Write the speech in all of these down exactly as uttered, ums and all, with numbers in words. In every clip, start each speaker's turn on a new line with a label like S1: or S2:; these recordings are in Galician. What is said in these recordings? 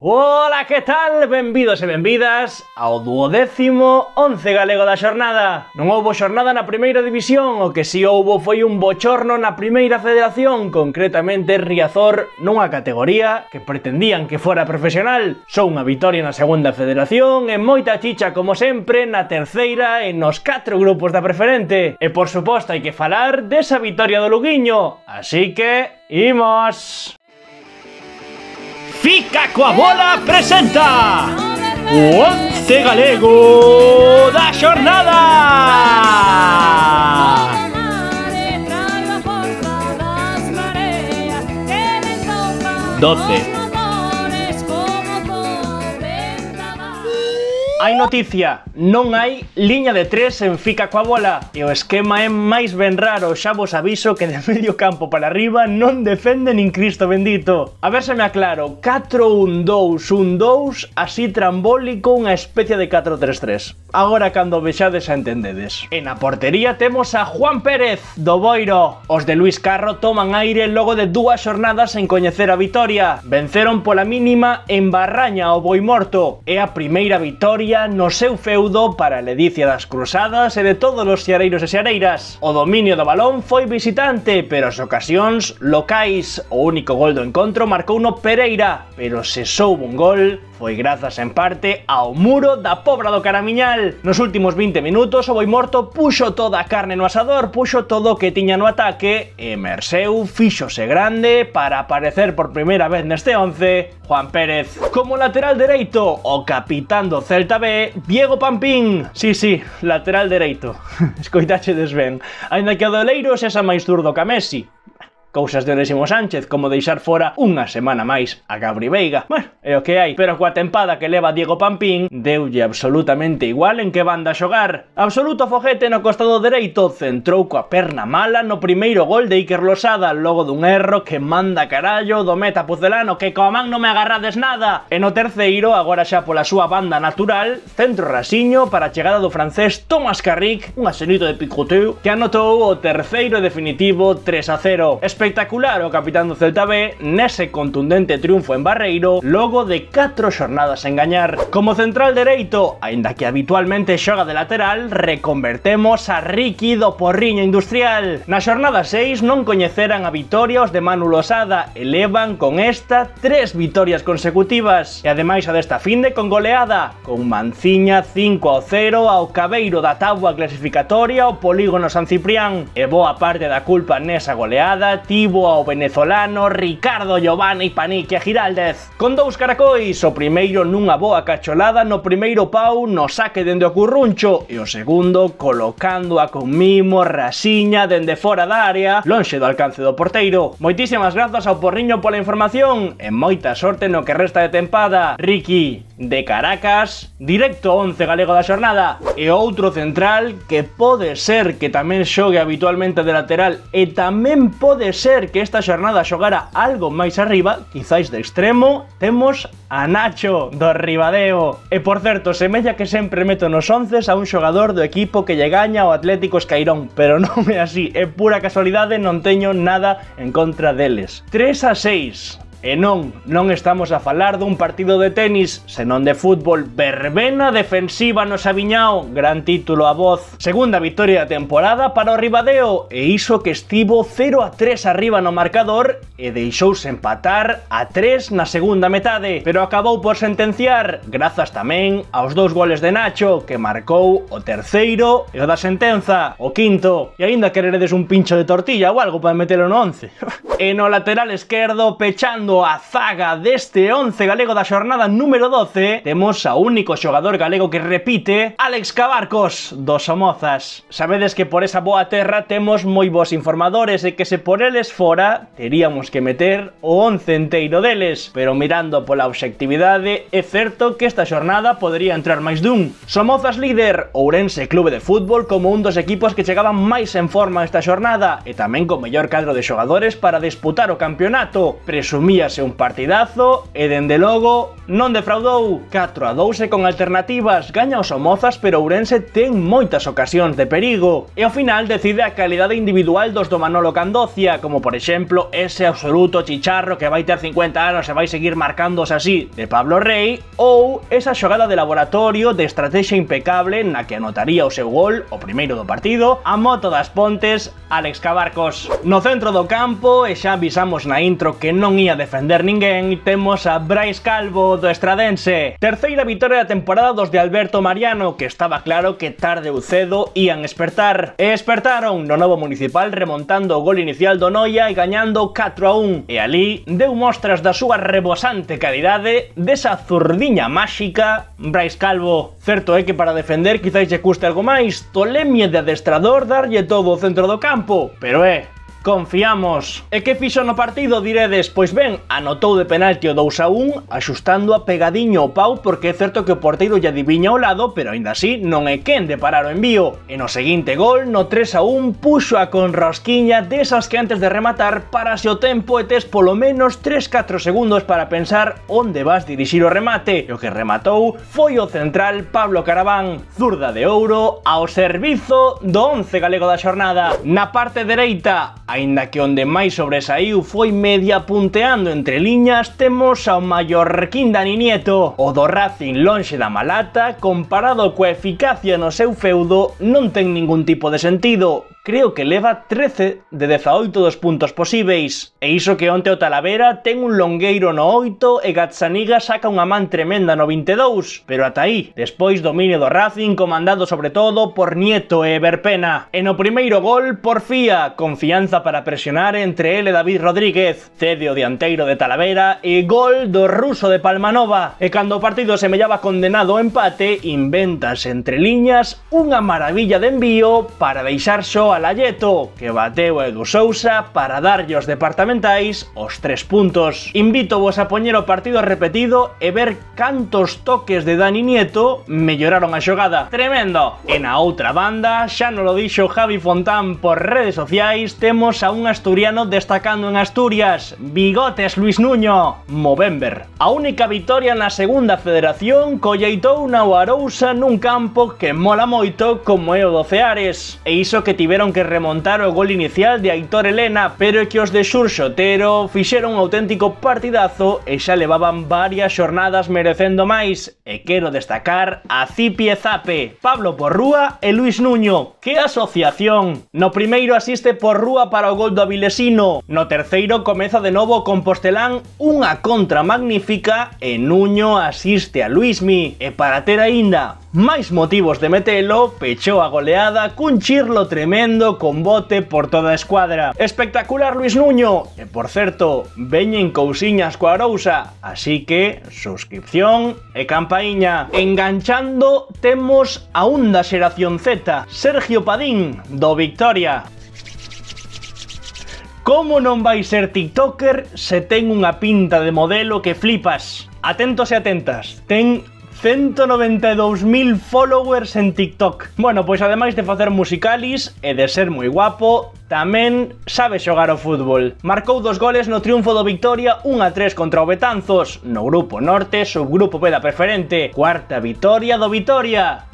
S1: Ola, que tal? Benvidos e benvidas ao duodécimo once galego da xornada. Non houbo xornada na primeira división, o que si houbo foi un bochorno na primeira federación, concretamente Riazor nunha categoría que pretendían que fora profesional. Só unha vitoria na segunda federación e moita chicha como sempre na terceira e nos catro grupos da preferente. E por suposto hai que falar desa vitoria do Luguiño, así que imos! Fica coa bola presenta o once galego da xornada. doce. Hai noticia, non hai liña de tres en Fica coa bola e o esquema é máis ben raro, xa vos aviso que de medio campo para arriba non defende nin Cristo bendito. A ver se me aclaro, catro un dous un dous, así trambólico, unha especie de catro tres tres. Agora cando vexades a entendedes. E na portería temos a Juan Pérez, do Boiro. Os de Luis Carro toman aire logo de dúas xornadas en coñecer a vitoria. Venceron pola mínima en Barraña ao Boimorto. É a primeira vitoria no seu feudo para a ledicia das cruzadas e de todos os xareiros e xareiras. O dominio do balón foi visitante, pero as ocasións locais. O único gol do encontro marcou no Pereira, pero se soubo un gol foi grazas en parte ao muro da Pobra do Caramiñal. Nos últimos vinte minutos o Boimorto puxo toda a carne no asador, puxo todo o que tiña no ataque e Merseu fíxose grande para aparecer por primeira vez neste once Juan Pérez. Como lateral dereito, o capitán do Celta B, Diego Pampín. Sí, sí, lateral dereito. Escoitachedes ben. Ainda que o do Oleiros é xa máis zurdo que a Messi. Cousas de Onésimo Sánchez, como deixar fora unha semana máis a Gabri Veiga. Bueno, é o que hai, pero coa tempada que leva Diego Pampín, deulle absolutamente igual en que banda xogar. Absoluto foguete no costado dereito, centrou coa perna mala no primeiro gol de Iker Losada, logo dun erro que manda carallo do meta pucelano, que coa man non me agarrades nada. E no terceiro, agora xa pola súa banda natural, centro rasiño para a chegada do francés Thomas Carrick, un asenito de picoteo, que anotou o terceiro definitivo tres a cero. Espectacular o capitán do Celta B nese contundente triunfo en Barreiro logo de catro xornadas en gañar. Como central dereito, aínda que habitualmente xoga de lateral, reconvertemos a Ricky do Porriño Industrial. Na xornada seis non coñeceran a vitoria os de Manu Losada e levan con esta tres vitorias consecutivas. E ademais a desta finde con goleada, con Manciña cinco a cero ao cabeiro da táboa clasificatoria o Polígono San Ciprián. E boa parte da culpa nesa goleada tivo ao venezolano Ricardo Giovanni Panique Giraldez. Con dous caracois, o primeiro nunha boa cacholada no primeiro pau no saque dende o curruncho e o segundo colocando a con mimo rasiña dende fora da área, lonxe do alcance do porteiro. Moitísimas grazas ao Porriño pola información e moita sorte no que resta de tempada. Ricky, de Caracas, directo ao once galego da xornada. E outro central que pode ser que tamén xogue habitualmente de lateral e tamén pode ser que esta xornada xogara algo máis arriba, quizáis de extremo, temos a Nacho do Ribadeo. E por certo, semella que sempre meto nos onces a un xogador do equipo que lle gaña o Atlético Escairón, pero non é así, é pura casualidade, non teño nada en contra deles. tres a seis. E non, non estamos a falar dun partido de tenis, senón de fútbol. Verbena defensiva no Sabiñao, gran título a voz. Segunda victoria da temporada para o Ribadeo, e iso que estivo cero a tres arriba no marcador e deixouse empatar a tres na segunda metade, pero acabou por sentenciar, grazas tamén aos dous goles de Nacho, que marcou o terceiro e o da sentenza, o quinto. E aínda quereredes un pincho de tortilla ou algo para metelo no once. E no lateral esquerdo, pechando a zaga deste once galego da xornada número doce, temos a único xogador galego que repite, Alex Cabarcos, dos Somozas. Sabedes que por esa boa terra temos moi bons informadores e que se por eles fora, teríamos que meter o once enteiro deles, pero mirando pola obxectividade, é certo que esta xornada podría entrar máis dun. Somozas líder, Ourense Clube de Fútbol como un dos equipos que chegaban máis en forma esta xornada e tamén con mellor cadro de xogadores para disputar o campeonato. Presumía Veíase un partidazo e dende logo non defraudou. catro a dous e con alternativas, gaña os Somozas, pero Ourense ten moitas ocasións de perigo e ao final decide a calidade individual dos do Manolo Candocia, como por exemplo ese absoluto chicharro que vai ter cincuenta anos e vai seguir marcándose así de Pablo Rey, ou esa xogada de laboratorio de estrategia impecable na que anotaría o seu gol, o primeiro do partido, a moto das Pontes, Álex Cabarcos. No centro do campo, e xa avisamos na intro que non ia defender ninguén, temos a Brais Calvo do Estradense. Terceira vitoria da temporada dos de Alberto Mariano, que estaba claro que tarde ou cedo ían espertar. E espertaron no novo Municipal remontando o gol inicial do Noia e gañando catro a un. E ali deu mostras da súa rebosante calidade, desa zurdiña máxica, Brais Calvo. Certo é que para defender quizáis lle custe algo máis, tolemie de adestrador darlle todo o centro do campo, pero é... confiamos. E que fixo no partido, diredes? Pois ben, anotou de penalti o dous a un, axustando a pegadiño o pau, porque é certo que o porteiro lle adiviña ao lado, pero aínda así non é quen de parar o envío. E no seguinte gol, no tres a un, puxo a con rosquiña desas que antes de rematar parase o tempo e tes polo menos tres catro segundos para pensar onde vas dirixir o remate. E o que rematou foi o central Pablo Caraván, zurda de ouro ao servizo do once galego da xornada. Na parte dereita, aínda que onde máis sobresaiu foi media punteando entre liñas, temos ao mallorquín Dani Nieto. O do Racing lonxe da malata, comparado coa eficacia no seu feudo, non ten ningún tipo de sentido. Creo que leva trece de dezaoito dos puntos posíveis. E iso que onte o Talavera ten un longueiro no oito e Gazzaniga saca unha man tremenda no vinte e dous. Pero ata aí, despois dominio do Racing comandado sobre todo por Nieto e Verpena. E no primeiro gol, porfía, confianza para presionar entre ele e David Rodríguez. Cede o dianteiro de Talavera e gol do ruso de Palmanova. E cando o partido semellaba condenado ao empate, inventas entre liñas unha maravilla de envío para deixar xo a Layeto, que bateu a Edu Sousa para darlle aos departamentais os tres puntos. Invito vos a poñer o partido repetido e ver cantos toques de Dani Nieto melloraron a xogada. Tremendo! E na outra banda, xa non lo dixo Javi Fontán por redes sociais, temos a un asturiano destacando en Asturias, Bigotes Luis Nuño, Movember. A única vitoria na segunda federación colleitou na Arousa nun campo que mola moito como é o do Ceares. E iso que tiveron que remontar o gol inicial de Aitor Elena, pero é que os de Xurxo Otero fixeron un auténtico partidazo e xa levaban varias xornadas merecendo máis. E quero destacar a Zipi e Zape, Pablo Porrúa e Luis Nuño. Que asociación! No primeiro asiste Porrúa para o gol do Avilesino, no terceiro comeza de novo o Compostelán unha contra magnífica e Nuño asiste a Luismi. E para ter aínda máis motivos de metelo, pechou a goleada cun chirlo tremendo con bote por toda a escuadra. Espectacular Luis Nuño! E por certo, veñen cousiñas coa Arousa, así que suscripción e campaíña. Enganchando temos a un da xeración Z, Sergio Padín, do Victoria. Como non vai ser tiktoker se ten unha pinta de modelo que flipas? Atentos e atentas, ten ciento noventa e dous mil followers en TikTok. Bueno, pois ademais de facer musicalis e de ser moi guapo, tamén sabe xogar ao fútbol. Marcou dos goles no triunfo do Victoria un a tres contra o Betanzos, no grupo norte, subgrupo B da preferente. Cuarta vitoria do Vitoria.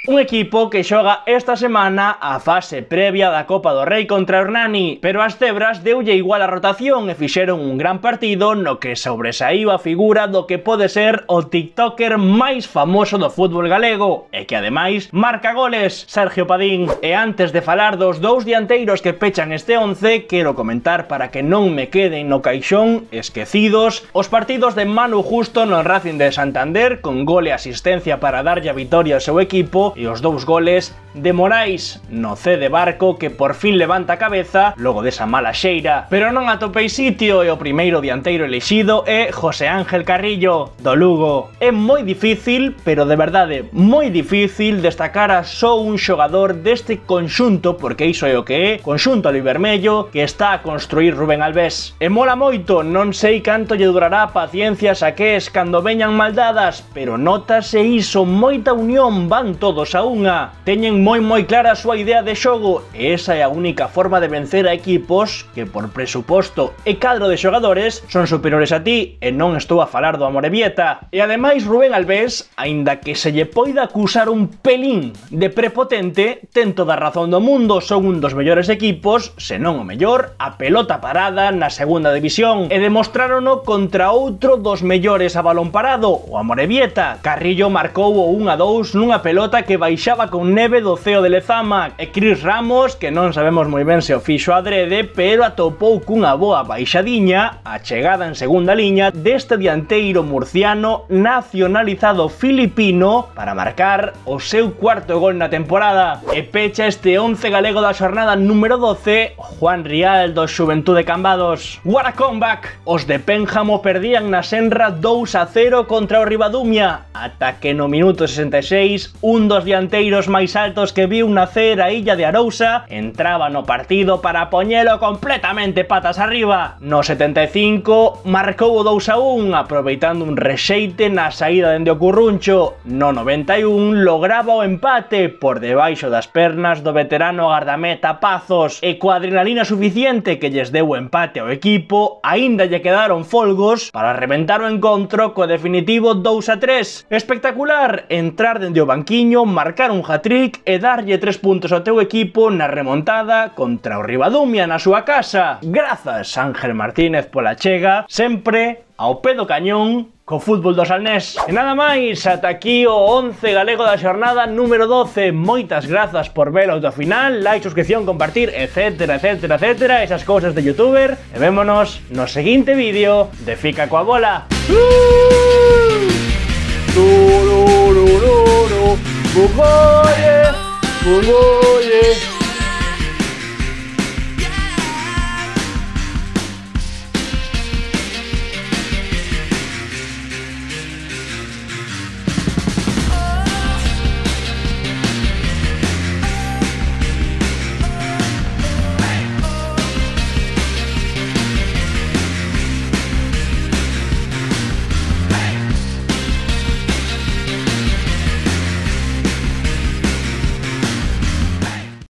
S1: Un equipo que xoga esta semana a fase previa da Copa do Rei contra Hernani, pero as cebras deulle igual a rotación e fixeron un gran partido no que sobresaiu a figura do que pode ser o tiktoker máis famoso do fútbol galego e que ademais marca goles, Sergio Padín. E antes de falar dos dous dianteiros que pechan este once, quero comentar para que non me queden no caixón esquecidos os partidos de Manu Justo no Racing de Santander con gol e asistencia para darlle a vitoria ao seu equipo e os dous goles de Morais no C de Barco, que por fin levanta a cabeza logo desa mala xeira. Pero non atopei sitio e o primeiro dianteiro elixido é José Ángel Carrillo, do Lugo. É moi difícil, pero de verdade moi difícil, destacar a só un xogador deste conxunto, porque iso é o que é, conxunto alivermello que está a construir Rubén Albés. E mola moito, non sei canto lle durará a paciencia Saqués cando veñan maldadas, pero notase iso, moita unión, van todos a unha, teñen moi moi clara a súa idea de xogo e esa é a única forma de vencer a equipos que por presuposto e cadro de xogadores son superiores a ti e non estou a falar do Amorebieta. E ademais Rubén Albés, aínda que se lle poida acusar un pelín de prepotente, ten toda a razón do mundo, son un dos mellores equipos, se non o mellor, a pelota parada na segunda división e demostrárono contra outro dos mellores a balón parado, o Amorebieta. Carrillo marcou o un a dous nunha pelota que baixaba con neve do ceo de Lezama e Cris Ramos, que non sabemos moi ben se o fixo adrede, pero atopou cunha boa baixadiña a chegada en segunda liña deste dianteiro murciano nacionalizado filipino para marcar o seu cuarto gol na temporada. E pecha este once galego da xornada número doce, Juan Rial do Xuventude Cambados. What a comeback! Os de Pénjamo perdían na Senra dous a cero contra o Ribadumia, ata que no minuto sesenta e seis un dos dianteiros máis altos que viu nacer a illa de Arousa entraba no partido para poñelo completamente patas arriba. No setenta e cinco marcou o dous a un aproveitando un rexeite na saída dende o Curruncho. No noventa e un lograba o empate por debaixo das pernas do veterano gardameta Pazos e coa adrenalina suficiente que lles deu o empate ao equipo, aínda lle quedaron folgos para reventar o encontro co definitivo dous a tres. Espectacular entrar dende o banquiño, marcar un hat-trick e darlle tres puntos ao teu equipo na remontada contra o Ribadumia na súa casa. Grazas, Ángel Martínez, pola chega, sempre ao pé do cañón co fútbol do Salnés. E nada máis, ata aquí o once galego da xornada número doce. Moitas grazas por velo ata o final, like, suscripción, compartir, etcétera, etcétera, etcétera, esas cousas de youtuber. E vémonos no seguinte vídeo de Fica coa bola. Bugoye, bugoye.